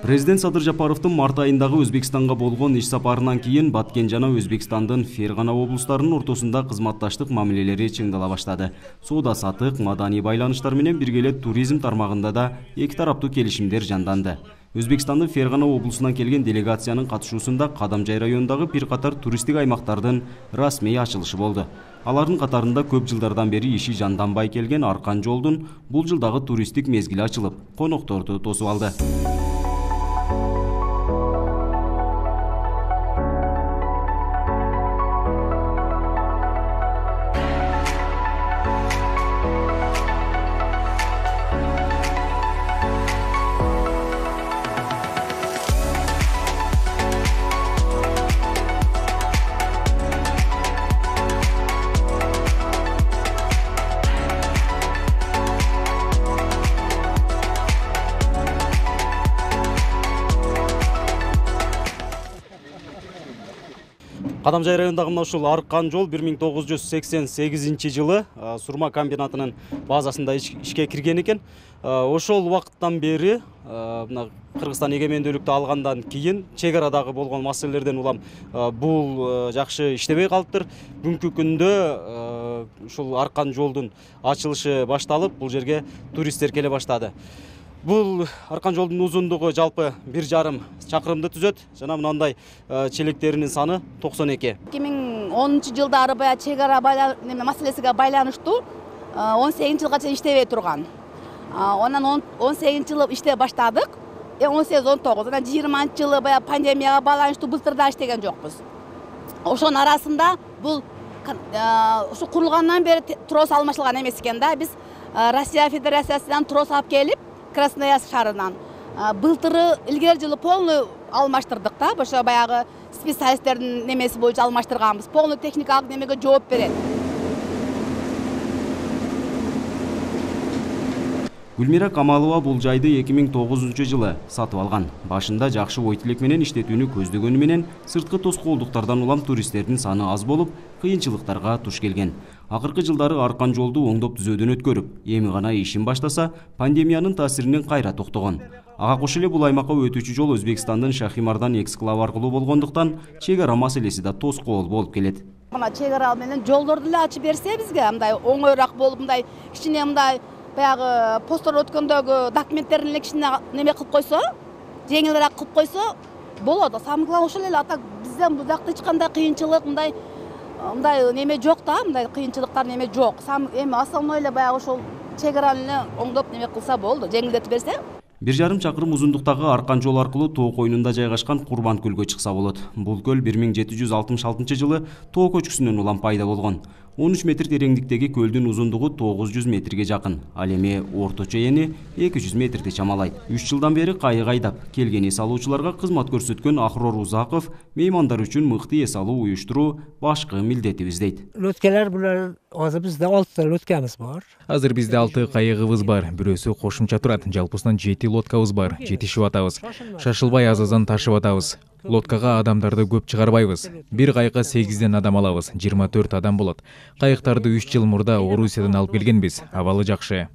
Президент Садыр Жапаровдун март айындагы Өзбекстанга болгон иш сапарынан кийин Баткен жана Өзбекстандын Фергана облустарынын ортосунда кызматташтык мамилелери чыңдала баштады. Соода сатык, маданий байланыштар менен бирге эле туризм тармагында да эки тараптуу келишимдер жанданды. Өзбекстандын Фергана облусунан келген делегациянын катышуусунда Кадамжай районундагы бир катар туристтик аймактардын расмий ачылышы болду. Алардын катарында көп жылдардан бери иши жанданбай келген Аркан жолдун бул жылдагы туристтик мезгили ачылып, конокторду тосуп алды. Кадамжай районундагы мына ушул Аркан жол 1988 жылы сурма комбинатынын базасында ишке кирген экен. Ошол убакыттан бери мына Кыргызстан эгемендүүлүктү алгандан кийин чек арадагы болгон маселелерден улам бул жакшы иштебей калыптыр. Бүгүнкү күндө ушул Аркан жолдун ачылышы башталып, бул жерге туристтер келе баштады. Бул Аркан жолдун узундугу жалпы 1,5 чакырымды түзөт жана мындай челектеринин саны 92. 2010 жылдары бая чек ара маселесине байланыштуу 18 жылга чейин иштебей турган. Онан 18 жылы иштеп баштадык. 18-19 анан 20 жылы бая пандемияга байланыштуу былтыр да иштеген жокпуз. Ошонун арасында бул ушу курулгандан бери трос алмашылган эмес экен да. Биз Россия Федерациясынан трос алып келип Красноярск шаарынан былтыры илгери жылы полный алмаштырдык да. Ошо баягы специалисттердин немеси боюнча алмаштырганбыз. Полный техникалык немеге жооп берет. Гүлмира Камалова бул жайды 2009 жылы сатып алган. Башында жакшы ой тилек менен иштетүүнү көздөгөнү менен сырткы тоскоолдуктардан улам туристтердин саны аз болуп, кыйынчылыктарга туш келген. Акыркы жылдары Аркан жолду оңдоп түзөөдөн өткөрүп, эми гана ишин баштаса, пандемиянын таасиринен кайра токтогон. Ага кошо эле бул аймакка өтүүчү жол Өзбекстандын Шахимардан эксклав аркылуу болгондуктан чек ара маселеси да тоскоол болуп келет. Мына чек ара менен жолдорду эле ачып берсе бизге мындай оңоюраак болуп, мындай кичине мындай баягы посттор өткөндөгү документтерин эле кичине неме кылып койсо, жеңилирээк кылып койсо болот. Самый главный ошол эле. Ата бизден бул жакта эч кандай кыйынчылык мындай неме жок да, мындай кыйынчылыктар неме жок. Эми основной эле баягы ошол чек араны эле оңдоп неме кылса болду, жеңилдетип берсе. 1,5 чакырым узундуктагы Аркан жол аркылуу Тоо койнунда жайгашкан Курбан көлгө чыкса болот. Бул көл 1766 жылы Тоо көчкүсүнөн улам пайда болгон. 13 метр тереңдиктеги көлдүн узундугу 900 метрге жакын. Ал эми орточо эни 200 метрди чамалайт. 3 жылдан бери кайык айдап келген эс алуучуларга кызмат көрсөткөн Ахрор Узаков меймандар үчүн мыкты эс алуу уюштуруу башкы милдетибиз дейт. Лөткелер булар азыр бизде 6 лөткебиз бар. Азыр бизде 6 кайыгыбыз бар. Бирөөсү кошумча турат. Жалпысынан 7 лодкабыз бар. Жетишип атабыз. Шашылбай азазан ташып атабыз. Лодкага адамдарды көп чыгарбайбыз. Бир кайыкка 8ден адам алабыз. 24 адам болот. Кайыктарды 3 жыл мурда Орусиядан алып келгенбиз. Абалы жакшы.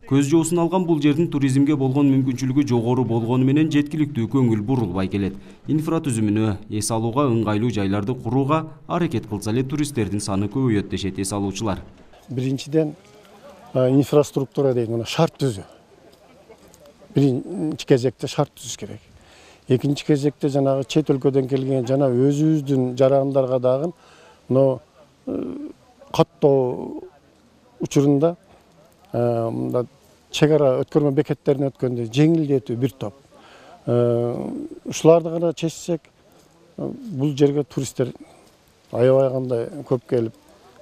Көз жоосун алган бул жердин туризмге болгон мүмкүнчүлүгү жогору болгону менен жеткиликтүү көңүл бурулбай келет. Инфратүзүмүнө, эс алууга ыңгайлуу жайларды курууга аракет кылса эле туристтердин саны көбөйөт дешет эс алуучулар. Биринчиден инфраструктура деген шарт түзүү. Биринчи кезекте шарт түзүш керек. Экинчи кезекте жанагы чет өлкөдөн келген жана өзүбүздүн жарандарга дагы но каттоо учурунда чек ара өткөрмө бекеттерине өткөндө жеңилдетүү бир топ. Ушуларды гана чечсек, бул жерге туристтер аябай кандай көп келип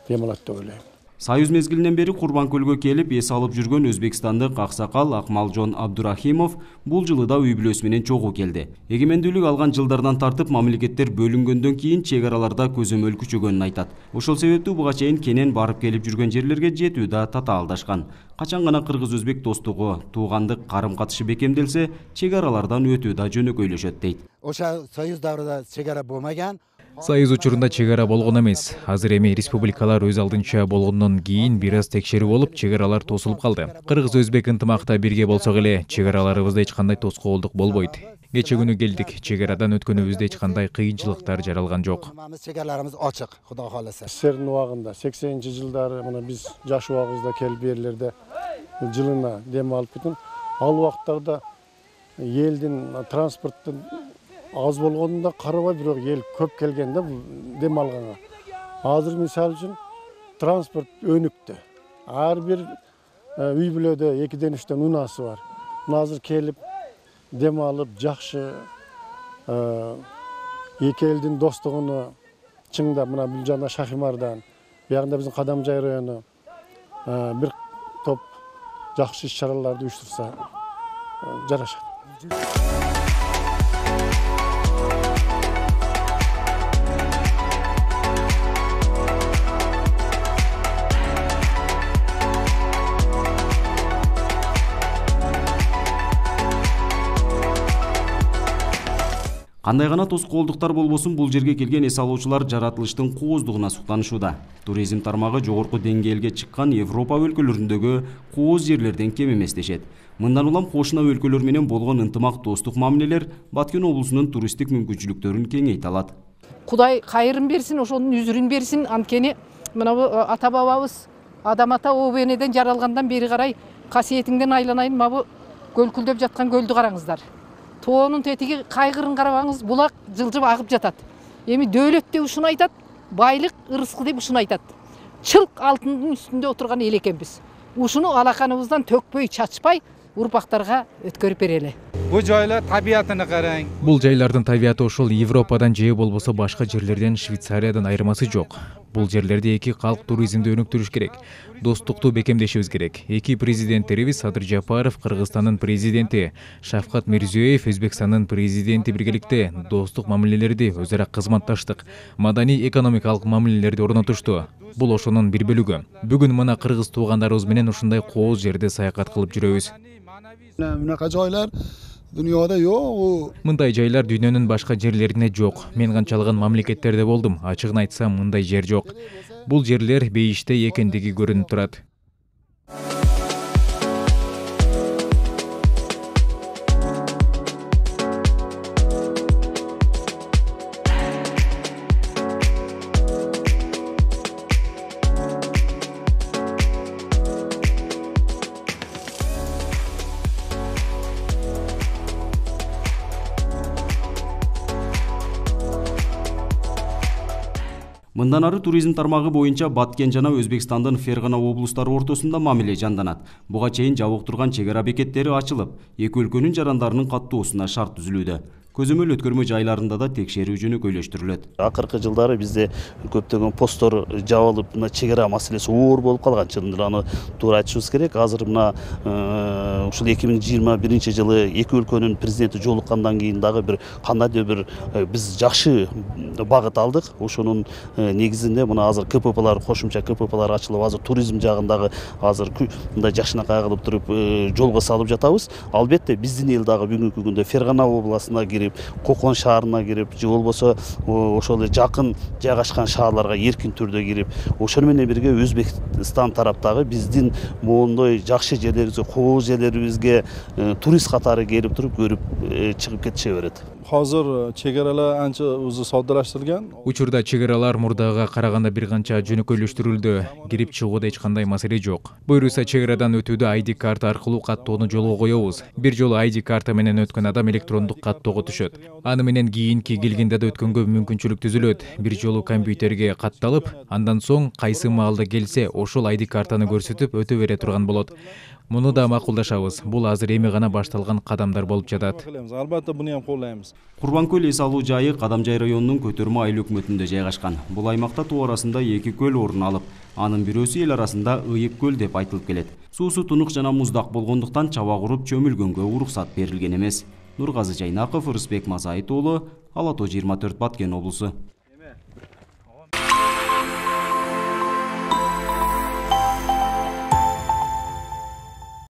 демалат деп ойлойм. Союз мезгилинен бери Курбан көлгө келип эс алып жүргөн өзбекстандык аксакал Акмалжон Абдурахимов бул жылы да үй бүлөсү менен чогуу келди. Эгемендүүлүк алган жылдардан тартып мамлекеттер бөлүнгөндөн кийин чек араларда көзөмөл күчөгөнүн айтат. Ошол себептүү буга чейин кенен барып келип жүргөн жерлерге жетүү да татаалдашкан. Качан гана кыргыз-өзбек достугу, туугандык карым-катышы бекемделсе, чек аралардан өтүү да жөнөкөйлөшөт дейт. Ошо Союз даврында чек ара болмаган. Союз учурунда чек ара болгон эмес. Азыр эми республикалар өз алдынча болгондон кийин бир аз текшерүү болуп, чек аралар тосулуп калды. Кыргыз-өзбек ынтымакта бирге болсок эле, чек араларыбызда эч кандай тоскоолдук болбойт. Кече күнү келдик. Чек арадан өткөнүбүздө эч кандай кыйынчылыктар жаралган жок. Чекараларыбыз ачык, Кудай кааласа. СССРдин убагында 80-жылдары мына биз жаш убагыбызда келип берлерде жылына дем алып кеткен. Ал убактарда элдин транспорттун аз болгонуна карабай, бирок эл көп келген да дем алганга. Азыр мисалы үчүн транспорт өнүктү. Ар бир үй бүлөдө 2-3 унаасы бар. Мына азыр келип дем алып жакшы эки элдин достугуну чыңдап, мына бул жана Шахимардан, биягында биздин Кадамжай району бир топ жакшы иш-чараларды уюштурса жарашат. Кандай гана тоскоолдуктар болбосун, бул жерге келген эс алуучулар жаратылыштын кооздугуна суктанышууда. Туризм тармагы жогорку деңгээлге чыккан Европа өлкөлөрүндөгү кооз жерлерден кем эмес дешет. Мындан улам кошуна өлкөлөр менен болгон ынтымак достук мамилелер Баткен облусунун туристтик мүмкүнчүлүктөрүн кеңейте алат. Кудай кайрын берсин, ошонун үзүрүн берсин. Анткени мына ата бабабыз Адам ата обенеден жаралгандан бери карай касиетиңден айланайын, мабу көлкүлдөп жаткан көлдү караңыздар. Тоонун тетиги кайгырын карабаңыз, булак жылжып агып жатат. Эми дөөлөт деп ушуну айтат, байлык, ырыскы деп ушуну айтат. Чылк алтындын үстүндө отурган эл экенбиз. Ушуну алаканыбыздан төкпөй, чачпай урпактарга өткөрүп берели. Бул жайлар табиятына караң. Бул жайлардын табияты ошол Европадан же болбосо башка жерлерден, Швейцариядан айырмасы жок. Бул жерлерде эки калк туризмди өнүктүрүш керек. Достукту бекемдешибиз керек. Эки президенттерибиз Садыр Жапаров, Кыргызстандын президенти, Шавкат Мирзиёев, Өзбекстандын президенти биргеликте достук мамилелерди, өзара кызматташтык, маданий экономикалык мамилелерди орнотушту. Бул ошонун бир бөлүгү. Бүгүн мына кыргыз туугандарыбыз менен ушундай кооз жерде саякат кылып жүрөбүз. Мынакай жайлар дүйнөдө жок. Мындай жайлар дүйнөнүн башка жерлеринде жок. Мен канчалыгын мамлекеттерде болдум. Ачыгын айтсам, мындай жер жок. Бул жерлер бейиште экендиги көрүнүп турат. Мындан ары туризм тармагы боюнча Баткен жана Өзбекстандын Фергана облустары ортосунда мамиле жанданат. Буга чейин жабык турган чек ара бекеттери ачылып, эки өлкөнүн жарандарынын каттоосуна шарт түзүлүүдө. Көзөмөл өткөрмө жайларында да текшерүү жөнөкөйлөштүрүлөт. Акыркы жылдары бизде көптөгөн посттор жабылып, мына чек ара маселеси оор болуп калган. Чындап аны туура айтышыбыз керек. Азыр мына ушул 2021 жылы эки өлкөнүн президенти жолуккандан кийин дагы бир кандайдыр бир биз жакшы багыт алдык. Ошонун негизинде мына азыр КППлар, кошумча КППлар ачылып, азыр туризм жагындагы азыр мындай жакшынакай кылып туруп жолго салып жатабыз. Албетте биздин эл дагы бүгүнкү күндө Фергана областына кирип, Кокон шаарына кирип, же болбосо ошол жакын жайгашкан шаарларга эркин түрдө кирип, ошону менен бирге Өзбекстан тараптагы биздин моундой жакшы жерлерибизге, кооз жерлерибизге турист катары келип туруп көрүп чыгып кетише берет. Hozir chegaralar ancha o'zi soddalaştırılgan. Учурда чек аралар мурдага караганда бир канча жөнөкөйлөштүрүлдү. Кирип чыгууда эч кандай маселе жок. Буюрса чек арадан өтүүдө ID карта аркылуу каттоону жолго коебуз. Бир жолу ID карта менен өткөн адам электрондук каттоого түшөт. Аны менен кийинки келгенде да өткөнгө мүмкүнчүлүк түзүлөт. Бир жолу компьютерге катталып, андан соң кайсы маалда келсе, ошол ID картаны көрсөтүп өтө бере турган болот. Муну да макулдашабыз. Бул азыр эми гана башталган кадамдар болуп жатат. Албетте буну ham qo'llaymiz. Курбанкөл эс алуу жайы Кадамжай районунун Көтөрмө айыл өкмөтүндө жайгашкан. Бул аймакта тоо арасында эки көл орун алып, анын бирөөсү эл арасында Ыйык көл деп айтылып келет. Суусу тунук жана муздак болгондуктан чаба куруп чөмүлгөнгө уруксат берилген эмес. Нургазы Жайнаков, Рысбек Мазайыт уулу, Ала Тоо 24, Баткен облусу.